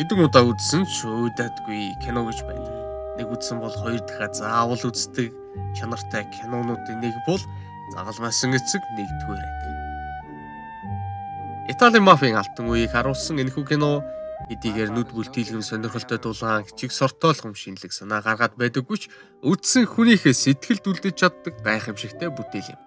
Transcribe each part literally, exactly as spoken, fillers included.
Хэдэн удаа үзсэн ч өөдөөдгүй кино гэж байна. Нэг үзсэн бол хоёр дахиад заавал үздэг чанартай кинонуудын нэг бол Загалмайсан эцэг нэгдүгээр анги. Италийн мафийн алтан үеийг харуулсан энэхүү кино эдгээр нүд бүлтийлгэн сонирхолтой дулаан чиг сортоолгом шинэлэг санаа гаргаад байдаггүй ч үзсэн хүнийхээ сэтгэлд үлдэж чаддаг гайхамшигтай бүтээл юм.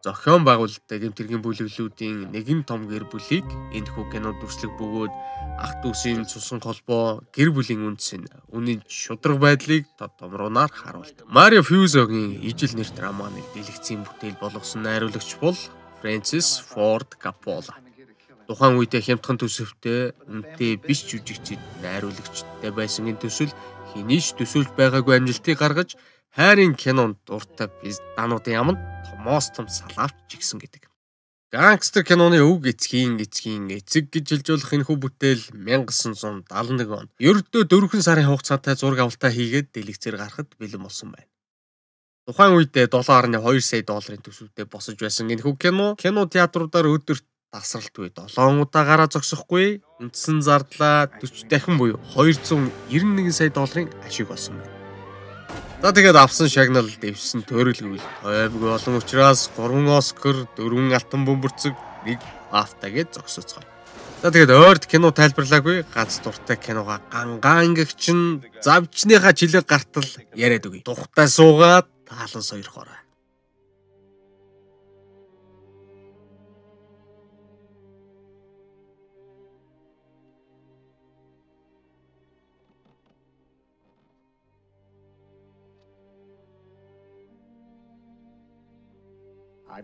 Зохион байгуулалттай гэмтэргийн бүлэглүүдийн нэгэн том гэр бүлийг энэхүү кинод дүрслэг бөгөөд ах дүүсийн цусан холбоо гэр бүлийн үндэс нь үнийн шудраг байдлыг тод томруунаар харуулдаг. Марио Пьюзогийн ижил нэр драманы дэлгэцийн бүтээл болгосон найруулагч бол Фрэнсис Форд Каппола. Тухайн үедээ хямдхан төсөвтэй үнэтэй биш жүжигчид найруулагчтай байсан энэ төсөл хинийч төсөөлж байгаагүй амжилтыг гаргаж хайрын кинонд дуртай пиздануудын яманд томоос том салаавч жигсэн гэдэг. Гангстер киноны өв эцгийн эцгийн эцэг гэж хэлжүүлэх энэхүү бүтээл 천구 седемсот седемдесет он ердөө дөрвөн сарын хугацаатай зураг авалтаа хийгээд дэлгэцээр гарахад бэлэн болсон байна. Тухайн үедээ доллар нэ хоёр сая долларын төсөвтэй босож байсан энэхүү кино кино театруудаар өдөрт тасралтгүй долоон удаа гараа зогсохгүй үндсэн зардлаа дөрвөн дахин буюу хоёрзуун девяносто один сая долларын ашиг болсон байна. За тэгээд авсан шагнал дэвсэн төрөлгөл тойвгүй олон учраас гурван Оскар, дөрвөн алтан бөмбөрцөг, нэг BAFTA гэж зогсоцгоо. За тэгээд ойрд кино тайлбарлаагүй ганц дуртай киногаа гангаан гэгчин завчныхаа жилэг гартал яриад өгье. Тухтай суугаад таалан сойрхоорой.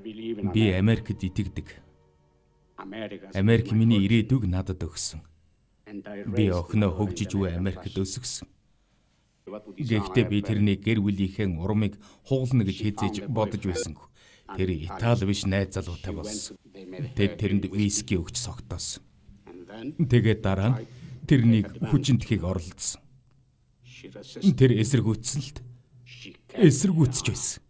Би Америкт итгэдэг. Америк миний ирээдүг надад өгсөн. Би охиноо хөгжиж буй Америкт өсгсөн. Гэхдээ би тэрний гэр бүлийнхээ урмыг хугална гэж хизээж бодож байсангүй. Тэр Итали биш найз залуутай болсон. Тэд тэрэнд виски өгч согтоосон. Тэгээд дараа нь тэрнийг хүчинтэхийг оролдсон. Тэр эсэргүүцсэн л эсэргүүцэж байсан.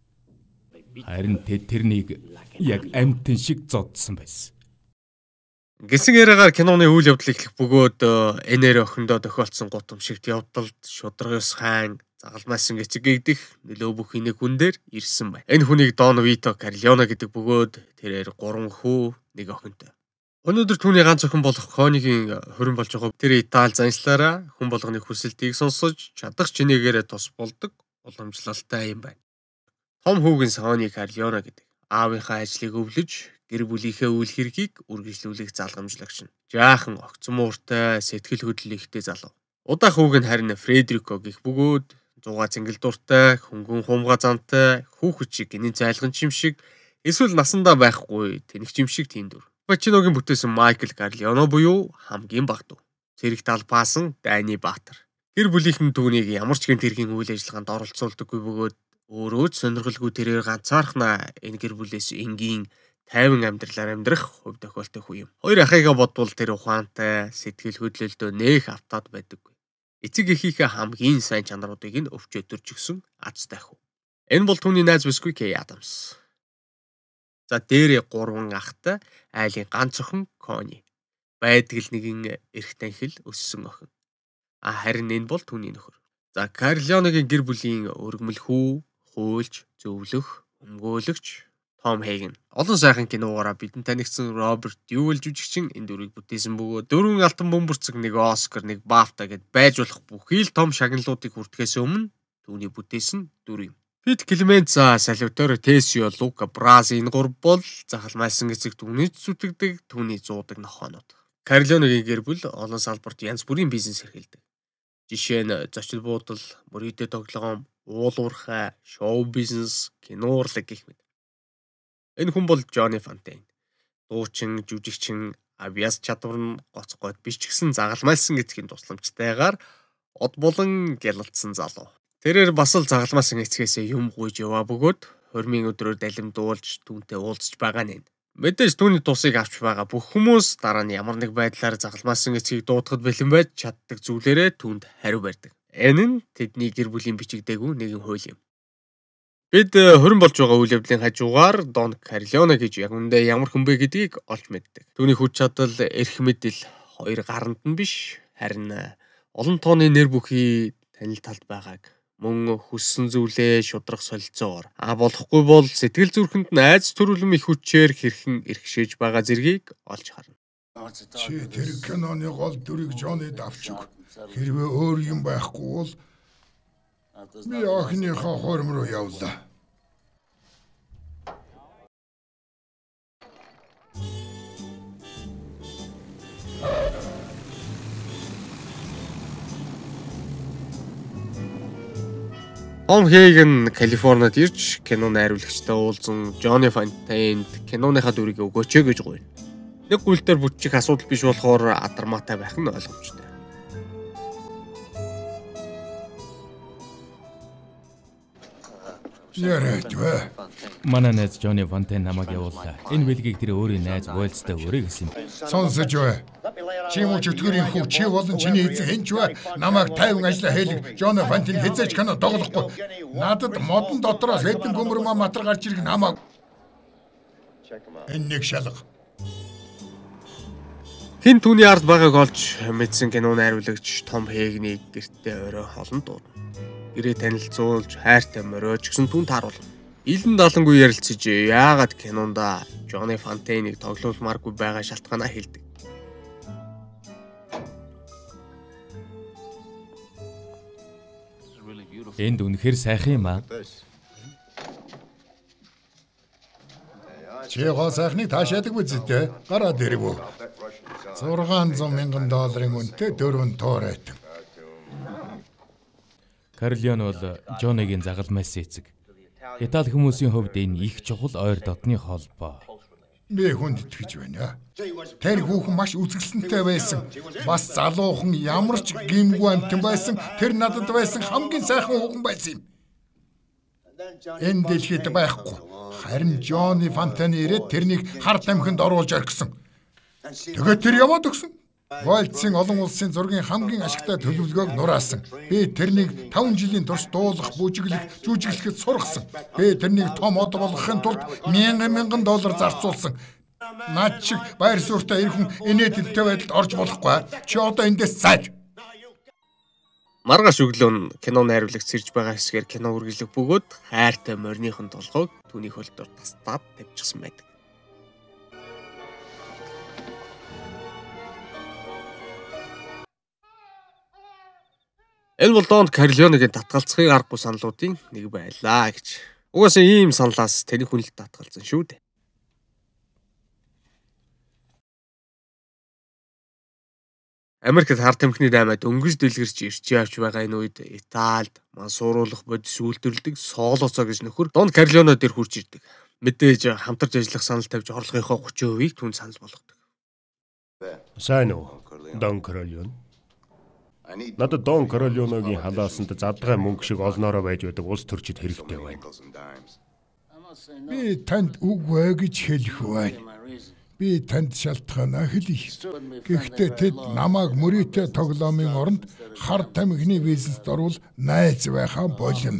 Харин тэд тэрнийг яг амьтан шиг зодсон байсан. Гэсэн яриагаар киноны үйл явдал эхлэх бөгөөд энээр охиндоо тохиолдсон гутамшигт явдалд шударгаас хаан Загалмайсан эцэг гэгдэх нөлөө бүх инэг хүн дээр ирсэн байна. Энэ хүнийг Дон Вито Корлеоне гэдэг бөгөөд тэрээр гурван хүү нэг охинтой. Өнөөдөр түүний ганц охин болох Конигийн хорин болж байгаа. Тэр Итали заншлаараа хүн болгоны хүсэлтийг сонсож чадах чинээгээрээ тус болдог уламжлалтай юм байна. Том хүүгийн Сони Корлеоне гэдэг аавынхаа ажлыг өвлөж гэр бүлийнхээ үйл хэргийг үргэлжлүүлэх залгамжлагч нь. Жаахан огцон мууртай сэтгэл хөдлөл ихтэй залуу. Удаа хүүг нь харин Фредерико гэх бөгөөд зугаа цэнгэл дуртай, хөнгөн хумга зантай, хүүхэд шиг гинэн зайлган чим шиг эсвэл насандаа байхгүй тэнэг чим шиг тийм дүр. Пачиногийн бүтээсэн Майкл Корлеоне буюу хамгийн баг дүү. Цэрэг талбаасан Дайны Баатар. Гэр бүлийнхэн түүнийг ямар ч гэмт хэргийн үйл ажиллагаанд оролцуулдаггүй бөгөөд өөрөө ч сонирхолгүй тэрээр ганцаархнаа энэ гэр бүлээс энгийн тайван амьдралаар амьдрах хувь тохиолтой хүү юм. Хоёр ахыгаа бодвол тэр ухаантай, сэтгэл хөдлөлтөө нээх автаад байдаггүй. Эцэг эхийнхээ хамгийн сайн чанаруудыг нь өвч өдөрч өгсөн азтай хүү. Энэ бол түүний найз бүсгүй Кей Адамс. За дээрээ гурван ахтай айлын ганц охин Кони. Байдаг л нэгэн эрх танхил өссөн охин. А харин энэ бол түүний нөхөр. За Корлеонегийн гэр бүлийн өргөмөл хүү, хуульч, зөвлөх, өмгөөлөгч Том Хейген. Олон сайхан киногоороо бидэнд танигдсан Роберт Дювал жүжигчин энэ дүрийг бүтээсэн бөгөөд дөрвөн алтан бөмбөрцөг, нэг Оскар, нэг BAFTA гэд байж болох бүхий л том шагналуудыг хүртэхээс өмнө түүний бүтээсэн дүр юм. Пит Клеменца, Салваторе Тесио, Лука Брази энэ гурав бол Загалмайсан эцэг түүний зүтгэдэг, түүний зуудаг нохоонууд. Корлеонегийн гэр бүл олон салбарт янз бүрийн бизнес эрхэлдэг. Жишээ нь зочид буудал, мөрөдөө тоглоом, уулуурхай, шоу бизнес, кино урлаг гэх мэт. Энэ хүн бол Джонни Фонтейн. Дуучин, жүжигчин, авиас чадвар нь гоц гойд биш ч гэсэн Загалмайсан эцгийн тусламжтайгаар од болон гялалцсан залуу. Тэрээр бас л Загалмайсан эцгээсээ юм гуйж яваа бөгөөд хормын өдрөөр далимдуулж түүнтэй уулзж байгаа нь. Мэдээж түүний тусыг авч байгаа бүх хүмүүс дараа нь ямар нэг байдлаар Загалмайсан эцгийг дуудахад бэлэн байж чаддаг зүйлээрээ түүнд хариу барьдаг. Энэ нь тэдний гэр бүлийн бичигдээгүй нэгэн хууль юм. Бид хорин болж байгаа үйл явдлын хажуугаар Дон Корлеоне гэж яг үндэ ямар хүн бэ гэдгийг олж мэддэг. Түүний хүч чадал, эрх мэдэл хоёр гаранд нь биш, Харин олон тооны нэр бүхий танил талд байгааг мөн хүссэн зүйлээ шудрах солилцоогоор а болохгүй бол сэтгэл зүрхэнд найз төрөлм их хүчээр хэрхэн эрхшээж байгаа зэргийг олж харна. Чи тэр киноны гол дүрийг Жонид авч өг. Хэрвээ өөр юм байхгүй бол би охиныхоо хурим руу явлаа. Том Хейген Калифорнид ирж киноны найруулагчтай уулзсан Johnny Fontaine'д киноныхаа дүрийг өгөөч гэж гуйна. Нэг гүйлтээр бүтчих асуудал биш болохоор адармаатай байх нь ойлгомжтой. Яриад вэ? Манай найз Johnny Fontaine намайг явууллаа. Энэ бэлгийг тэр өөрийн найз Уайлзтай өрөө гэсэн юм. Сонсож вэ? Чи муу чөтгөрийн хүү чи болон чиний эзэн хэнч вэ? Намайг тайван ажилла хэлэг Johnny Fontaine хэзээч кино тоглохгүй. Надад модон дотроос хэдэн гөмөрмө матар гарч ирэх намайг. Энэ нэг шалга. Хин түүний ард байгааг олж мэдсэн киноны найруулагч Том Хейгний гэртээ орой холон дуудана. Гэрээ танилцуулж хайртай моройч гэсэн түн тааруулна. Илэн далангүй ярилцаж яагаад кинонда Johnny Fontaine-ыг тоглоулмааргүй байгаа шалтгаанаа хэлдэг. Энд үнэхээр сайхан юм аа. Чи гоо сайхныг таашаадаг үзэдэ. Гараад ирвүү. зургаан зуун мянган долларын үнэтэй дөрвөн тоор айтан. Карлион бол Жоныгийн загалмайс эцэг. Итали хүмүүсийн хувьд энэ их чухал ойр дотны холбоо. Би хүнд итгэж байна. Тэр хүүхэн маш үзэсгэлэнтэй байсан. Бас залуухан ямар ч гимгүй амтан байсан. Тэр надад байсан хамгийн сайхан хүүхэн байсан юм. Энэ дэлхийд байхгүй. Харин Johnny Fontaine ирээд тэрнийг хар тамхинд оруулж орхисон. Тэгээд тэр яваад өгсөн. Уайлдсын олон улсын зургийн хамгийн ашигтай төлөвлөгөөг нураасан. Би тэрнийг таван жилийн турш дуулах, бүжиглэх, жүжиглэхэд сургасан. Би тэрнийг том од болгохын тулд мянган мянган доллар зарцуулсан. Наад шиг байр суурьтай ирхэн инээдтэй байдалд орж болохгүй. Чи одоо эндээс зайж. Маргааш өглөө кино найруулагч сэрж байгаа хэсгээр кино үргэлжлэх бөгөөд хайртай морьныхон толгойг түүний хөлтөөр тастаад тавьчихсан байдаг. Энэ бол Дон Карлеоныгийн татгалзахыг аргагүй саналуудын нэг байлаа гэж. Угаасаа ийм саналаас тэрний хүн л татгалзсан шүү дээ. Америкт хар тамхины даймад өнгөж дэлгэрч ирж явж байгаа энэ үед Италид мансууруулах бодис үйлдвэрлэдэг Солоцо гэж нөхөр Дон Карлеоно дээр хурж ирдэг. Мэдээж хамтарч ажиллах санал тавьж орлогынхоо гурван хувийг түн санал болгодог. Сайн уу, Дон Карлеоно? Надад Дон Карлеоногийн халаасанд задгай мөнгө шиг олноороо байж байдаг улс төрчид хэрэгтэй байна. Би танд үгүй гэж хэлэх байна. Би танд шалтгаанаа хэлье. Гэхдээ тэд намайг мөрөөтэй тоглоомын оронд хар тамхины бизнест орвол найз байхаа болно.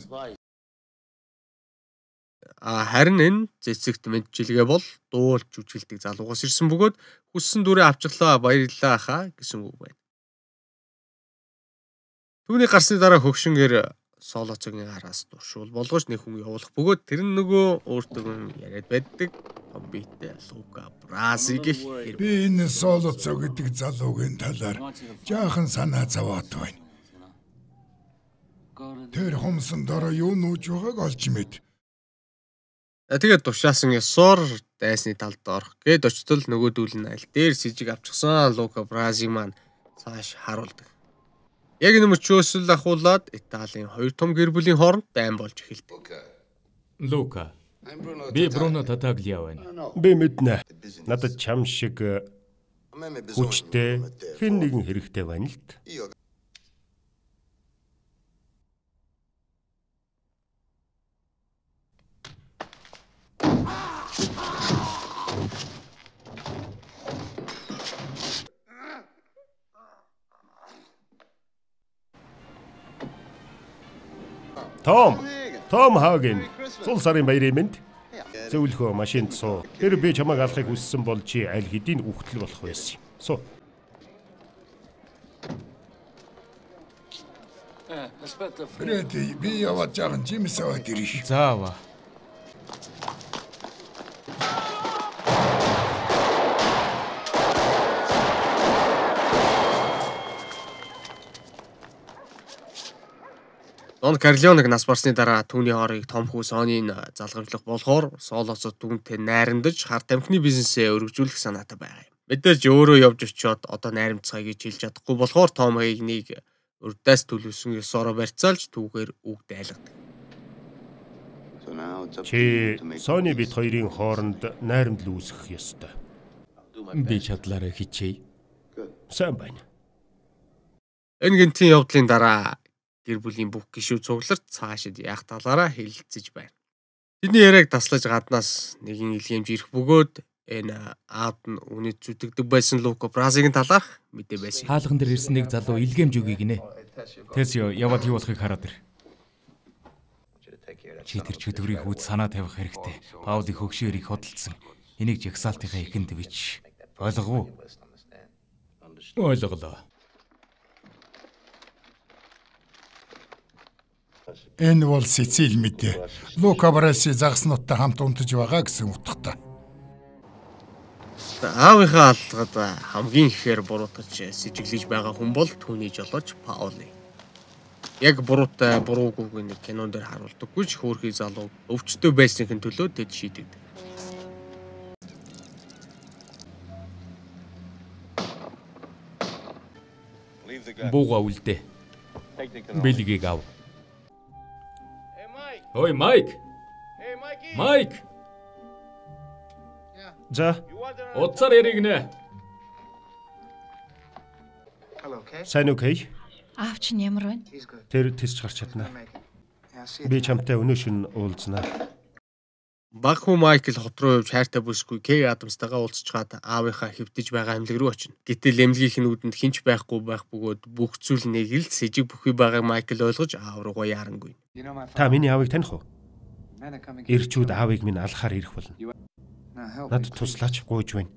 А харин энэ цэцэгт мэдчилгээ бол дуулж жүжиглдэг залуугаас ирсэн бөгөөд хүссэн дүрээ авчлаа баярлалаа хаа гэсэн үг байна. Түүний гарсны дараа хөгшингээр Солоцогийн араас дуршуул болгож нэг хүн явуулах бөгөөд тэр нь нөгөө өөртөө яриад байдаг том биетэй Лука Брази гэх хэрэг. Би энэ Солоцо гэдэг залуугийн талаар жаахан санаа зовоод байна. Тэр хумсан дараа юу нууж байгааг олж мэд. Тэгээд тушаасан ёсоор дайсны талд орох гээд очтол нөгөөдүүл нь аль дээр сэжиг авчихсан Лука Брази маань цааш харуулдаг. Яг энэ мөчөөс л ахуулаад Италийн хоёр том гэр бүлийн хооронд дайм болж эхэлдэг. Лука. Би Бруно Татаглиа байна. Би мэднэ. Надад чам шиг хүчтэй хэн нэгэн хэрэгтэй байна л т. Том, Том Хаген. Сул сарын баярын мэнд. Зөвлөхөө машинд суу. Тэр би чамайг алахыг хүссэн бол чи аль хэдийн үхтэл болох байсан юм. Суу. Фредди, би яваад жаахан Жимс аваад ирэх. Заава. Дон Карлеоныг нас барсны дараа түүний хоорыг том хүү Сонийн залгамжлах болохоор Солоцод түүнтэй найрамдаж хар тамхины бизнесээ өргөжүүлэх санаатай байгаа юм. Мэдээж өөрөө явж очиод одоо найрамдцгаа гэж хэлж чадахгүй болохоор Том Хейгнийг урдаас төлөвсөн ёсороо барьцаалж түүгээр үг дайлгадаг. Чи Сони бит хоёрын хооронд найрамдал үүсгэх ёстой. Би чадлаараа хичээе. Сайн байна. Энэ гинтийн явдлын дараа гэр бүлийн бүх гишүүд цугларч цаашид яах талаараа хэлэлцэж байна. Тэдний яриаг таслаж гаднаас нэгэн илгээмж ирэх бөгөөд энэ аавд нь үнэт зүтгэдэг байсан Лука Бразигийн талаарх мэдээ байсан. Хаалган дээр ирсэн нэг залуу илгээмж өгье гинэ. Тэсё яваад юу болохыг хараад ир. Чи тэр чөтгөрийн хүүд санаа тавих хэрэгтэй. Паулыг хөгшөөр их хөдөлсөн. Энийг жагсаалтынхаа ихэнд бич. Ойлгов уу? Ойлголоо. Энэ бол Сицил мэдээ. Лука Браси загснуудтай хамт унтаж байгаа гэсэн утгатай. Аавынхаа аллагад хамгийн ихээр буруутгаж сэжиглэж байгаа хүн бол түүний жолооч Паули. Яг буруутай буруугүй нэг кинон дээр харуулдаггүй ч хөөрхий залуу өвчтөй байсныг төлөө тэд шийдэгдэг. Бууга үлдээ. Бэлгийг ав. Ой, Майк. Майк. За, Утсаар яригнэ. сайн уу Кей? Аавч нь ямар байна? Тэр тисч гарч чадна. Би чамтай өнөө шин уулзнаа. Баг хүү Майкл хот руу явж хайртай бүсгүй Кей Адамстайгаа уулзчаад аавынхаа хэвтэж байгаа амьлаг руу очино. Гэтэл эмнэлгийнх нь үүдэнд хинч байхгүй байх бөгөөд бүх зүйл нэг л сэжиг бүхий байгааг Майкл ойлгож аав руугаа яарангүй. Та миний аавыг таних уу? Ирчүүд аавыг минь алхахаар ирэх болно. Над туслаач гуйж байна.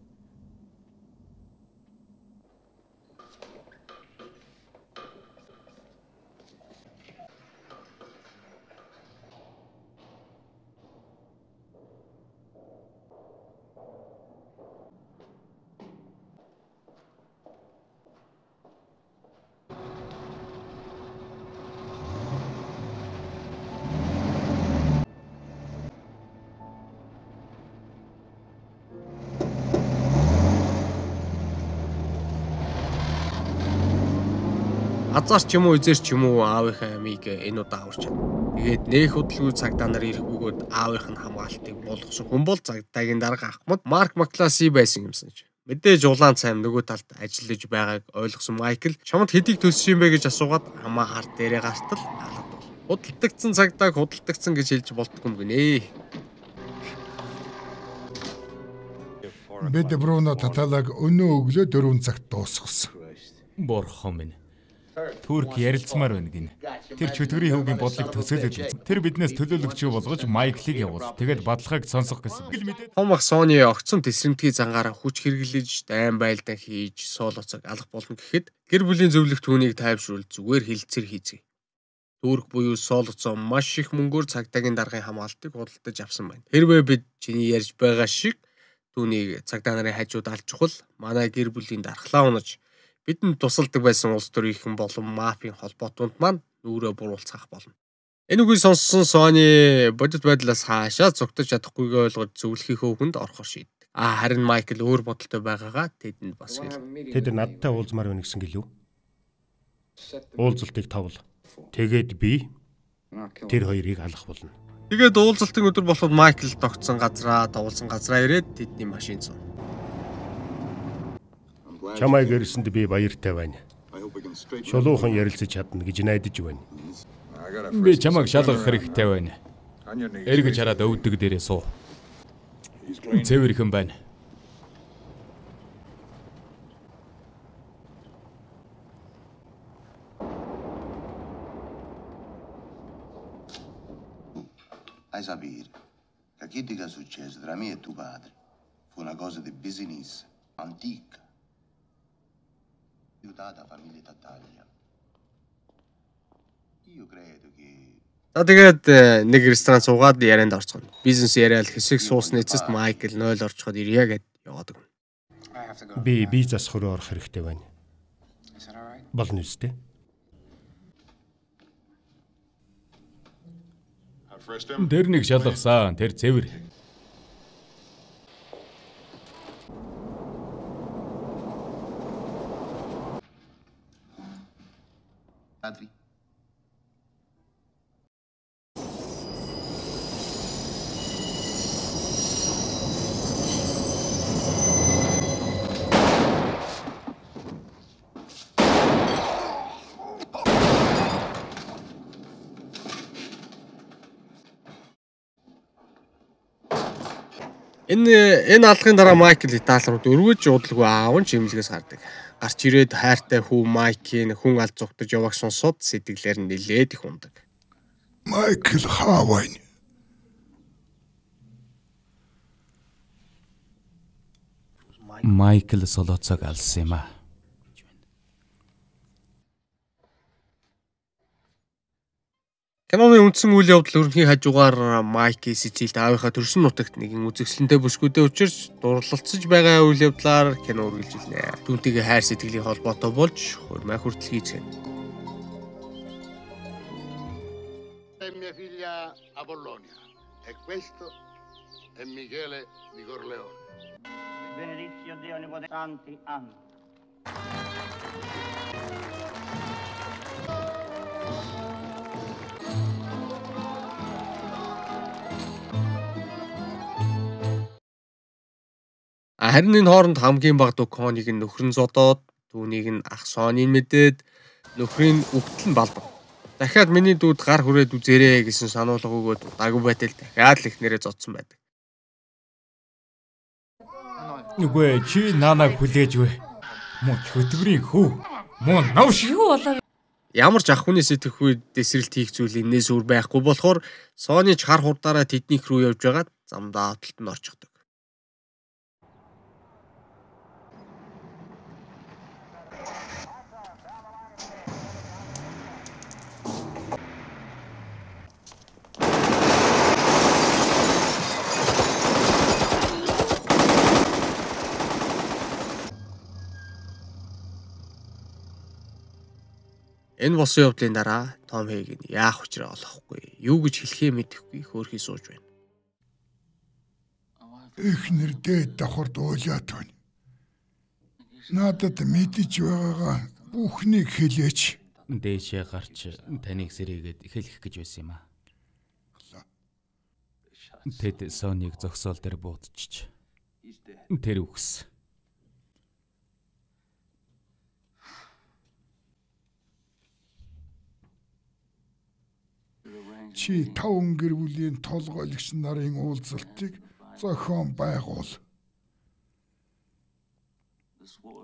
Азар ч юм уу эзэр ч юм уу аавынхаа амийг энэ удаа аварч чадна. Тэгээд нэх хөдөлгөөн цагдаа нар ирэх бөгөөд аавынх нь хамгаалтыг болгосон хүн бол цагдаагийн дарга ахмад Марк Макласи байсан юмсан ч. Мэдээж улаан цайм нөгөө талд ажиллаж байгааг ойлгосон Майкл чамд хэдийг төлсөн юм бэ гэж асуугаад хамаа хард дээрээ гартал алгадвал. Худалдагдсан цагдааг худалдагдсан гэж хэлж болтгүй юм гинэ. Бид Бруно Таталаг өнөө өглөө дөрвөн цагт дуусгасан. Борхон минь. Турк ярилцмаар байна гин. Тэр чөтгөрийн хөвгийн бодлыг төсөөлөд тэр биднээс төлөөлөгчөө болгож Майклыг явуул. Тэгээд бадлагыг сонсох гэсэн. Том ах Сони огцон тесрэмтгий зангаараа хүч хэрэглэж дайн байлдан хийж Солоцог алах болно гэхэд гэр бүлийн зөвлөх түүнийг тайвшруул зүгээр хилцэр хийцгээе. Турк буюу Солоцоо маш их мөнгөөр цагдаагийн даргын хамгаалтыг худалдаж авсан байна. Хэрвээ бид чиний ярьж байгаа шиг түүнийг цагдаа нарын хажууд алж чухал манай гэр бүлийн дархлаа унаж бидэнд тусалдаг байсан улс төрийнхэн болон мафийн холбоотонд маань нүрээ буруулцах болно. Энэ үгийг сонссон Сони бодит байдлаас хаашаа зугтаж чадахгүйгээ ойлгож зөвлөхийнхөө хүнд орохоор шийддэг. А харин Майкл өөр бодолтой байгаагаа тэдэнд бас хэл. Тэд надтай уулзмаар байна гэсэн гэлүү. Уулзалтыг тавл. Тэгээд би тэр хоёрыг алах болно. Тэгээд уулзалтын өдөр болоход Майкл тогтсон газраа, дуулсан газраа ирээд тэдний машин зов. Чамайг ирсэнд би баяртай байна. Шулуухан ярилцаж чадна гэж найдаж байна. Би чамайг шалгах хэрэгтэй байна. Эргэж хараад өвдөг дээрээ суу. Цэвэрхэн байна. Hai sapere che chi ti è successo tra me e tuo padre fu una cosa di business antica. Aiutata famiglia Tattaglia. За тэгээд нэг ресторан суугаад ярианд орцгоно. Бизнес яриад хэсэг суусны эцэст Майкл нойл орчход ирье гэд яваад өгнө. Би би засах руу орох хэрэгтэй байна. Болно үстэй. Тэр нэг шалгасан. Тэр цэвэр. Адри. Энэ энэ алгын дараа Майкл Итали руу дөрвөж удалгүй аав нь чимлэгээс гардаг. Гарч ирээд хайртай хүү Майкийн хүн алд зугтаж яваг сонсоод сэтгэлээр нь нилээд их ундаг. Майкл хаавайн. Майкл солоцог алсан юм а. Киноны үндсэн үйл явдал өрнөхийн хажуугаар Майки Сицилид аавынхаа төрсөн нутагт нэгэн үзэсгэлэнтэй бүсгүйтэй учирч дурлалцаж байгаа үйл явдлаар кино үргэлжилнэ. Түүнтэйгээ хайр сэтгэлийн холбоотой болж хурмай хүртэл хийцгэнэ. Mia figlia Apollonia e questo è Michele di Corleone. Benedizio Dio Onnipotente. Santi anni. Харин энэ хооронд хамгийн бага Дуконыг нь нөхөр нь зодоод, түүнийг нь ах Соныг мэдээд нөхрийн үгтэл нь балбав. Дахиад миний дүүд гар хүрээд үзээрэй гэсэн сануулга өгөөд дагуу байтал дахиад л ихнэрээ зодсон байдаг. Нүгэ чи наанаг хүлээж вэ? Мөн хөтгөрийн хүү. Мөн навш юу болоо. Ямар ч ах хүний сэтгэхүй дэсрэлт хийх зүйл энээс өөр байхгүй болохоор Сони ч хар хурдаараа тэднийх рүү явж байгаад замдаа хотолд нь орчихдог. Энэ босон явдлын дараа Том Хейг нь яах учраа олохгүй, юу гэж хэлхээ мэдэхгүй хөөрхий сууж байна. Эхнэр дээд давхар дуулаад байна. Надад мэдэж байгаагаа бүхнийг хэлээч. Дээшээ гарч таныг сэрээгээд хэлэх гэж байсан юм а. Тэд Соныг зогсоол дээр буудчих. Тэр үгс. Чи таван гэр бүлийн толгойлогч нарын уулзалтыг зохион байгуул.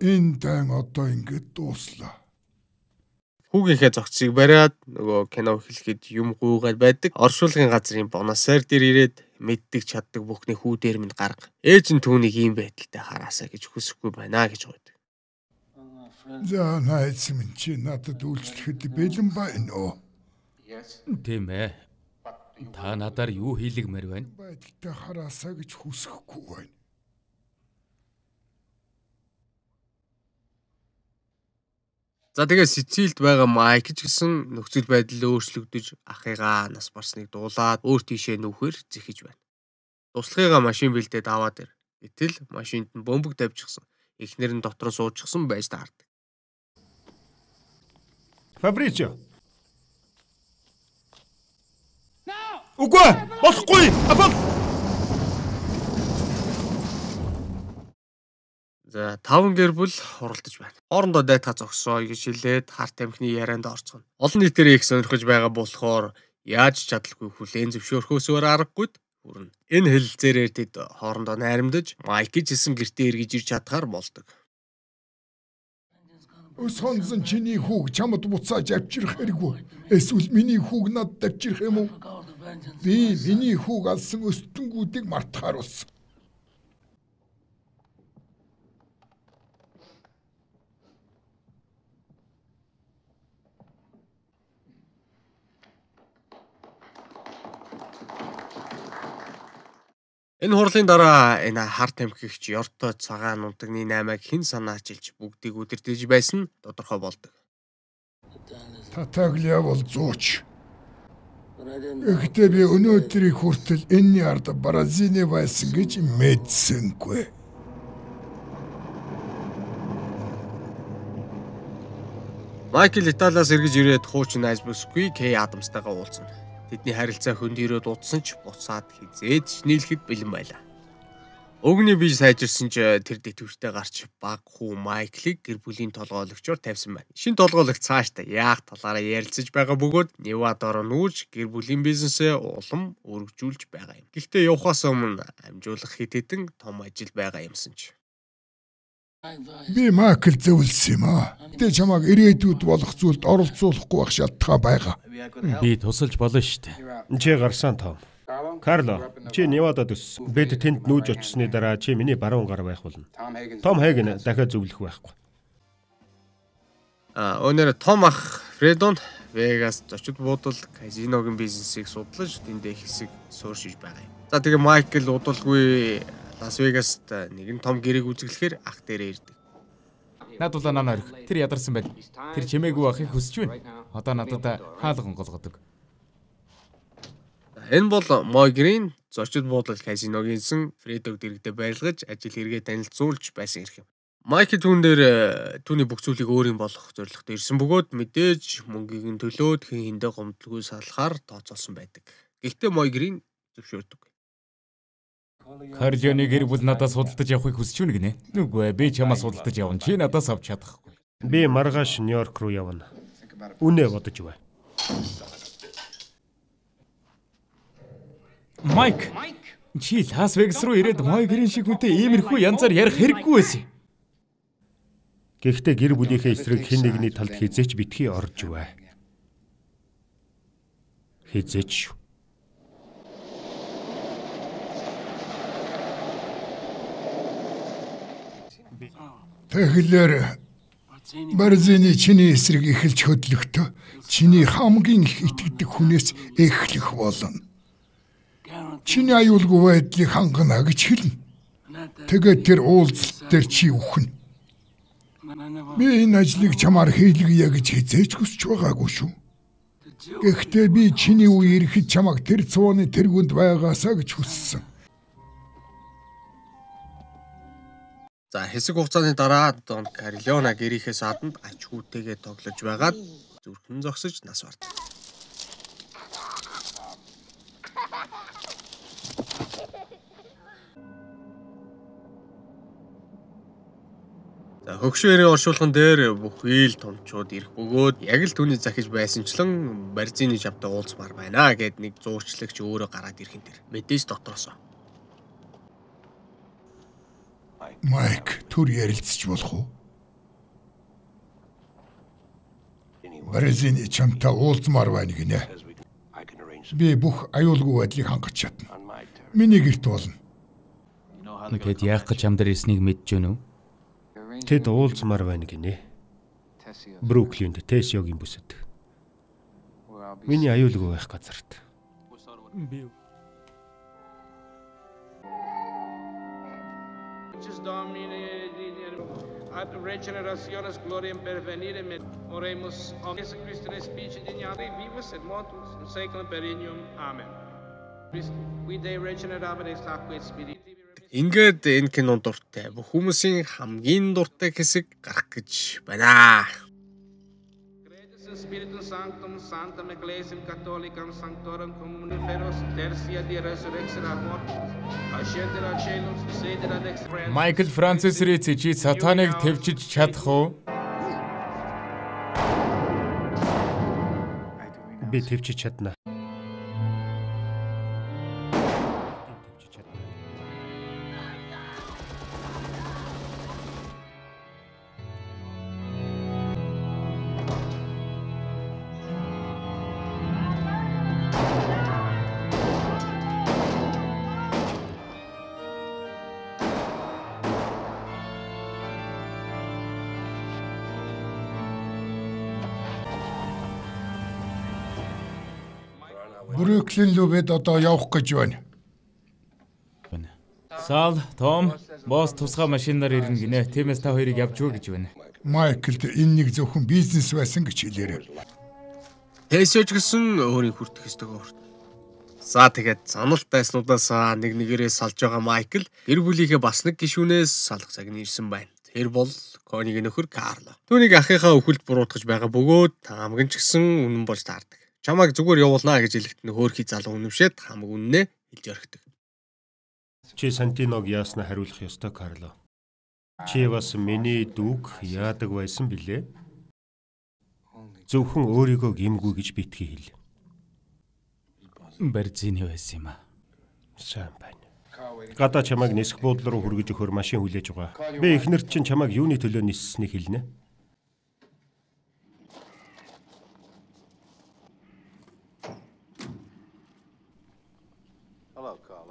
Энэ дан одоо ингэж дууслаа. Хүүгийнхээ зогцыг бариад нөгөө кино хэлэхэд юм гуугаад байдаг. Оршуулгын газрын бонасаар дээр ирээд мэддэг чаддаг бүхний хүү дээр минь гарга. Ээж нь түүнийг ийм байдалтай хараасаа гэж хүсэхгүй байна гэж гойдог. За найз минь чи надад үйлчлэхэд бэлэн байна уу? Тийм ээ. Та надаар юу хийлгмээр байна? Байдалтай хараасаа гэж хүсэхгүй байна. За тэгээ Сицилид байгаа Майк ч гэсэн нөхцөл байдал өөрчлөгдөж ахыгаа нас барсныг дуулаад өөр тийшээ нүүхээр зэхэж байна. Туслахыгаа машин бэлдээд аваад ир. Гэтэл машинд нь бөмбөг тавьчихсан. Эхнэр нь дотор суучихсан байж таардаг. Фабричо. Үгүй болохгүй. Апол. За таван гэр бүл хуралдаж байна. Хоорондоо дайтаа зогсоо гэж хэлээд харт амхны ярианд орцгоно. Олон нийтээр их сонирхож байгаа болохоор яаж чадалгүй хүлээн зөвшөөрөхөөсөөр аргагүй хүрнэ. Энэ хэлэлцээрээр тэд хоорондоо найрамдаж Майк жисэн гэртээ эргэж ирж чадхаар болдог. Сонсон чиний хүүг чамд буцааж авчрах хэрэггүй. Эсвэл миний хүүг надад авчрах юм уу? Би миний хүүг алсан өстөнгүүдийг мартахаар болсон. Энэ хурлын дараа энэ хар тамхигч ёртой цагаан нутагны наймааг хэн санаачилж бүгдийг үдирдэж байсан тодорхой болдог. Татаглиа бол зууч. Гэхдээ би өнөөдрийг хүртэл энэний ард Бразилийн байсан гэж мэдсэнгүй. Майкл Италиас эргэж ирээд хуучин Айсбергсгүй Кей Адамстайгаа уулзсан. Тэдний харилцаа хөндөрөөд удсан ч буцаад хизээд нийлэхэд бэлэн байлаа. Өгний бие сайжирсан ч тэр дэтгэвртэй гарч баг хүү Майклыг гэр бүлийн толгойлогчоор тавьсан байна. Шинэ толгойлогч цаашдаа яах талаараа ярилцаж байгаа бөгөөд Невадаар нүүж гэр бүлийн бизнесээ улам өргөжүүлж байгаа юм. Гэхдээ явахаас өмнө амжуулах хэд хэдэн том ажил байгаа юмсан ч. Би Майкл зөвлөсөн юм аа. Тэ чамайг ирээдүйд болох зүйлд оролцуулахгүй байх шалтгаан байгаа. Би тусалж болно шүү дээ. Чи гарсан Том. Карло, чи Невадад өссөн. Бид тэнд нүүж очсны дараа чи миний баруун гар байх болно. Том Хейген дахиад зөвлөх байхгүй. А өнөр Том ах Фредон Вегас зочид буудал казиногийн бизнесийг судлаж тэндээ хэсэг сууршиж байгаа юм. За тэгээ Майкл удалгүй Лас Вегаст нэгэн том гэрээг үзэглэхээр ах дээрээ ирдэг. Надулаа нана орих. Тэр ядарсан байд. Тэр чимээгүй байхыг хүсэж байна. Одоо надад хаалган голгодог. Энэ бол Мойгрийн зочид буудал казиногийнсэн Фредог дэрэгдээ байлгаж ажил хэрэгээ танилцуулж байсан хэрэг юм. Майкл түүн дээр түүний бүх зүйлийг өөрийн болох зорилготой ирсэн бөгөөд мэдээж мөнгийг нь төлөөд хэн хэндээ гомдлгүй салахаар тооцоолсон байдаг. Гэхдээ Мойгрийн зөвшөөрдөг. Карлионы гэр бүл надаас судалдаж явахыг хүсэж байна гинэ. Нүггүй би чамаас судалдаж явна. Чи надаас авч чадахгүй. Би маргааш Нью-Йорк руу явна. Үнэ бодож бай. Майк, чи Лас Вегас руу ирээд Мойгрийн шиг хүнтэй иймэрхүү янзаар ярих хэрэггүй байсан. Гэхдээ гэр бүлийнхээ эсрэг хэн нэгний талд хизээч битгий орж бай. Хизээч шүү. Тэгэхээр Бразилийн чиний эсрэг эхэлж хөдлөхдөө чиний хамгийн их итгэдэг хүнээс эхлэх болно. Чиний аюулгүй байдлыг хангана гэж хэлнэ. Тэгээд тэр уулзалт дээр чи үхнэ. Би энэ ажлыг чамаар хийлгэе гэж хизээч хүсэж байгаагүй шүү. Гэхдээ би чиний үе ирэхэд чамайг тэр цууны тэргүнд байгаасаа гэж хүссэн. За хэсэг хугацааны дараа Дон Карлиона гэрийнхээ сааданд ач хүүтэйгээ тоглож байгаад зүрхэн зогсож нас барт. За хөгшөөрийн оршуулган дээр бүхий л томчууд ирэх бөгөөд яг л түүний захиж байсанчлан Барзины жамтай уулзмаар байна гэд нэг зуучлагч өөрөө гараад ирхэн тэр. Мэдээж дотроос. Майк, түр ярилцж болох уу? Барзины чамтай уулзмаар байна гинэ. Би бүх аюулгүй байдлыг хангаж чадна. Миний гэрт болно. Тэгэд яах гэж чам дээр ирснийг мэдж байна уу? Тэд уулзмаар байна гинэ. Бруклинд Тесиогийн бүсэд. Миний аюулгүй байх газарт. Би ad regenerationes gloriam pervenire me oremus om Jesu Christi respice dignare vivus et mortus in saeculum perennium amen. We de regenerabile sacque spiriti. Ингээд энэ кинон дуртай бүх хүмүүсийн хамгийн дуртай хэсэг гарах гэж байна. Spiritus Sanctum Sanctam Ecclesiam Catholicam Sanctorum Communem Feros Tertia di Resurrection ad Mortis Ascendere ad Caelum Sedere ad Extra. Майкл Францис Рици чи сатаныг твчиж чадах уу? Би твчиж чадна. Бруклин руу бид одоо явах гэж байна. Сал, Том, босс тусгай машинаар ирнэ гинэ. Тиймээс та хоёрыг явж өгөө гэж байна. Майклд энэ нэг зөвхөн бизнес байсан гэж хэлээрэй. Тэсэж гисэн өөрийн хүртэх ёстойгоо хүртэ. За тэгээд саналт байснуудаасаа нэг нэгээрээ салж байгаа Майкл гэр бүлийнхээ бас нэг гишүүнээс салах цагны ирсэн байна. Тэр бол Конигийн нөхөр Карло. Түүнийг ахыхаа өхөлд буруутгаж байгаа бөгөөд хамган ч гэсэн үнэн болж таардаг. Чамайг зүгээр явуулнаа гэж хэлэхэд нөхөрхий залуу үнэмшээд хамаг үннээ хэлж орхидог. Чи Сантиног яаснаа хариулах ёстой, Карло. Чи бас миний дүүг яадаг байсан билээ? Зөвхөн өөрийгөө гимгүй гэж битгий хэл. Барзины байсан юм аа. Сайн байна. Гадаа чамайг нисэх буудлын руу хүргэж өгөхөр машин хүлээж байгаа. Би эхнэрт чинь чамайг юуны төлөө ниссэнийг хэлнэ.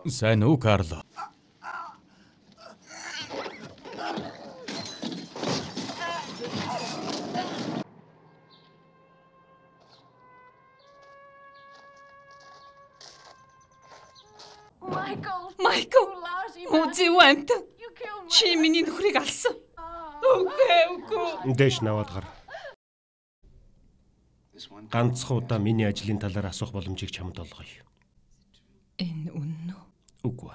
Сайн уу, Карло? Майкл, үзэвэнт. Чи миний нөхрийг алсан. Үгүй, үгүй. Дэш наваад гар. Ганцхан удаа миний ажлын талаар асуух боломжийг чамд олгоё. Энэ үнэн үү? Үгүй.